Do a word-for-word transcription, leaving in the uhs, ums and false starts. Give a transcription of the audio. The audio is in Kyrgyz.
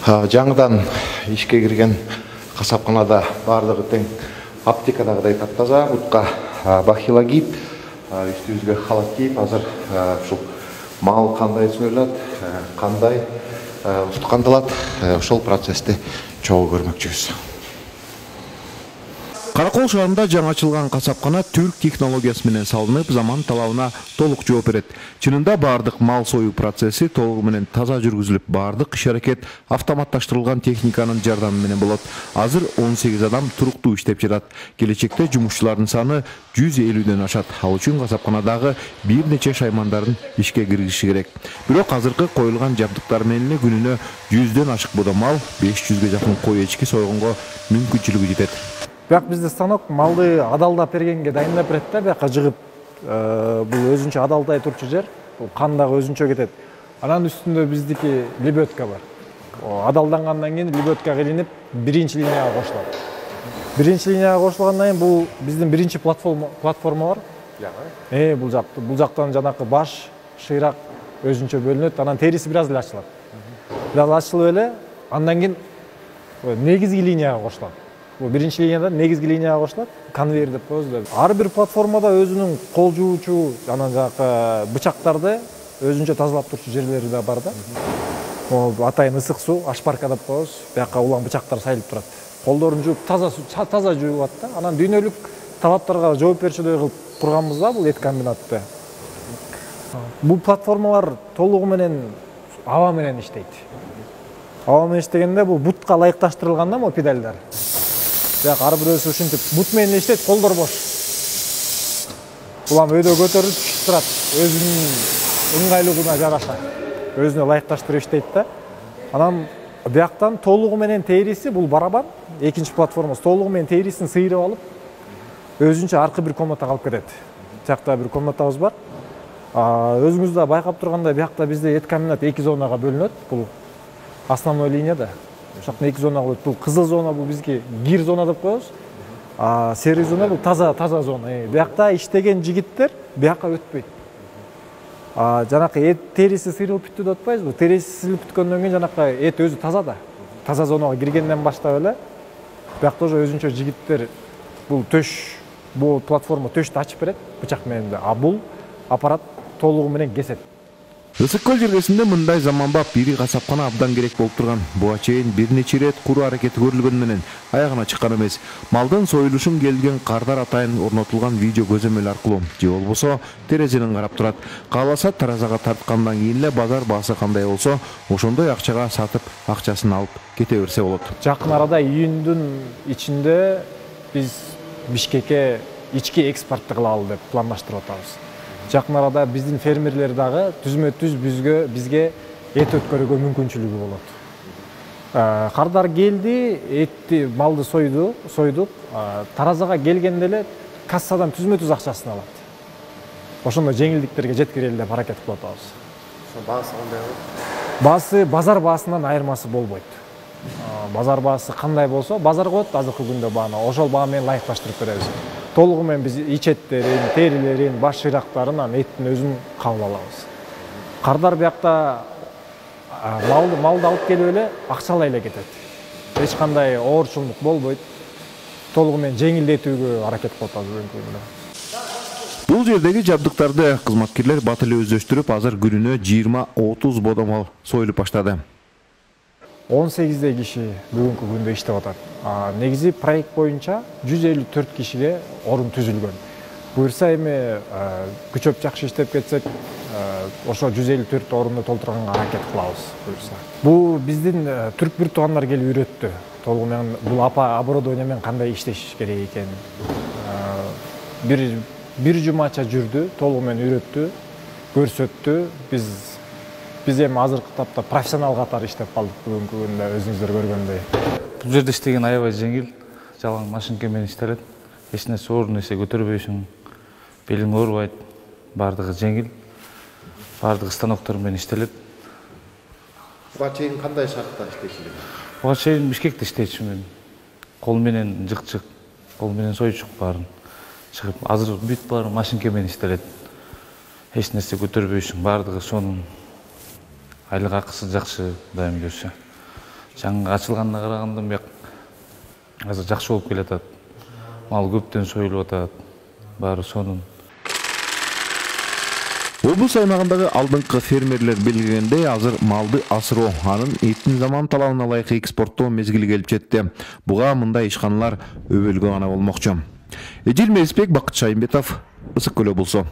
Жаңыдан ишке кирген касапканада бардыгы тең, аптекадагыдай таптаза, бутка бахила кийип, үстүбүзгө халат кийип, азыр ушул мал кандай союлат, кандай устукандалат, ошол процессти чогуу көрмөкчүбүз. Каракол шаарында жаңы ачылган касапкана түрк технологиясы менен салынып, заман талабына толук жооп берет. Чынында бардык мал союу процесси толугу менен таза жүргүзүлүп, бардык иш-аракет автоматташтырылган техниканын жардамы менен болот. Азыр он сегиз адам туруктуу иштеп жатат. Келечекте жумушчулардын саны жүз элүүдөн ашат. Ал үчүн касапканадагы бир нече шаймандарын ишке киргизиши керек. Бирок азыркы коюлган жабдыктар менен күнүнө жүздөн ашык бода мал, беш жүзгө жакын кой эчки сойгонго мүмкүнчүлүгү жетет. Бияк бизде станок малды адалдап бергенге дайындап берет да, бияка жыгып, бул өзүнчө адалдай турчу жер, бул кан дагы өзүнчө кетет. Анан үстүндө биздики лебедка бар. Адалдангандан кийин лебедка илинип, биринчи линияга кошулат. Биринчи линияга кошулгандан кийин бул биздин биринчи платформа платформа бар. Э, бул жак, бул жактан жанакы баш, шыйрак өзүнчө бөлүнөт, анан териси бир аз эле ачылат. Бир аз ачылып эле, андан кийин негизги линияга кошулат. Бул биринчи линияда негизги линияга кошулат, конвейер деп коебуз. Ар бир платформада өзүнүн кол жуучу, анан жанакы бычактарды өзүнчө тазалап турчу жерлери да бар да. Могу атайын ысык суу, ашпарка деп коебуз. Бияка улам бычактар сайылып турат. Колдорун жууп, таза таза жуулат да. Анан дүйнөлүк талаптарга жооп берчүдөй кылып курганбыз да бул эт комбинатты. Бул платформалар толугу менен аба менен иштейт. Аба менен иштегенде бул бутка ылайыкташтырылган да могу педалдар. Бияк ар бирөөсү ушинтип бут менен иштейт, колдор бош. Улам өйдө көтөрүлүп түшүп турат, өзүнүн ыңгайлуулугуна жараша. Өзүнө ылайыкташтырып иштейт да. Анан бияктан толугу менен териси, бул барабан, экинчи платформасы толугу менен терисин сыйрып алып, өзүнчө аркы бир комнатага алып кетет. Жакта бир комнатабыз бар. Өзүңүз да байкап тургандай, биякта бизде эт комбинат эки зонага бөлүнөт. Бул основной линияда. Ошоктон эки зона болот. Бул кызыл зона, бул бизге гир зона деп коебуз. А серый зона бул таза таза зона. Биякта иштеген жигиттер бияка өтпөйт. А жанакы эт териси сыйрылып бүттү деп атпайбызбы? Териси сыйрылып бүткөндөн кийин жанакы эт өзү таза да. Таза зонага киргенден баштап эле биякта уже өзүнчө жигиттер бул төш, бул платформа төштү ачып берет бычак менен. А бул аппарат толугу менен кесет. Ысык көл жергесинде мындай заманбап ири касапкана абдан керек болуп турган. Буга чейин бир нече ирет куруу аракети көрүлгөн менен аягына чыккан эмес. Малдын союлушун келген кардар атайын орнотулган видео көзөмөл аркылуу же болбосо терезеден карап турат. Кааласа таразага тарткандан кийин эле базар баасы кандай болсо, ошондой акчага сатып, акчасын алып кете берсе болот. Жакын арада июндун ичинде биз Бишкекке ички экспортты кылалы деп пландаштырып атабыз. Жакын арада биздин фермерлер дагы түзмө-түз бизге бизге эт өткөрүүгө мүмкүнчүлүгү болот. Кардар келди, этти, малды сойду, сойдук. Таразага келгенде эле кассадан түзмө-түз акчасын алат. Ошондой жеңилдиктерге жеткирели деп аракет кылып атабыз. Ошо баасы кандай болот? Баасы базар баасынан айырмасы болбойт. Базар баасы кандай болсо, базар коет азыркы күндө бааны, ошол баа менен ылайыкташтырып беребиз. Толугу менен биз ичеттерин, терилерин, баш шыйрактарын, анан эттин өзүн кабыл алабыз. Кардар биякта малды малды алып келип эле акчалай эле кетет. Эч кандай оорчулук болбойт. Толугу менен жеңилдетүүгө аракет кылып атабыз бүгүнкү күндө. Бул жердеги жабдыктарды кызматкерлер бат эле өздөштүрүп, азыр күнүнө жыйырма отуз бода мал союлуп баштады. он сегиздей киши бүгүнкү күндө иштеп атат. Негизи проект боюнча жүз элүү төрт кишиге орун түзүлгөн. Буюрса эми күчөп жакшы иштеп кетсек, ошо жүз элүү төрт орунду толтурганга аракет кылабыз буюрса. Бул биздин түрк бир туугандар келип үйрөттү. Толугу менен бул апа оборудование менен кандай иштеш керек экен. Бир бир жумача жүрдү, толугу менен үйрөттү, көрсөттү. Биз Биз эми азыркы тапта профессионал катары иштеп калдык бүгүнкү күндө, өзүңүздөр көргөндөй. Бул жерде иштеген аябай жеңил, жалаң машинка менен иштелет. Эч нерсе оор нерсе көтөрбөйсүң, белиң оорубайт, бардыгы жеңил. Бардыгы станоктор менен иштелет. Буга чейин кандай шартта иштейсиңер? Буга чейин Бишкекте иштечүмүн. Кол менен жыкчык, кол менен сойчук баарын чыгып, азыр бүт баары машинка менен иштелет. Эч нерсе көтөрбөйсүң, бардыгы сонун. Айлык акысы жакшы дайым көрсө. жаңы ачылганына караганда бияк азыр жакшы болуп келатат. Мал көптөн союлуп атат. Баары сонун. Облус аймагындагы алдыңкы фермерлер белгилегендей, азыр малды асыроо, анын этин заман талабына ылайык экспорттоо мезгили келип жетти. Буга мындай ишканалар өбөлгө гана болмокчу. Эжил Мелисбек, Бакыт Шайымбетов, Ысык Көл облусу.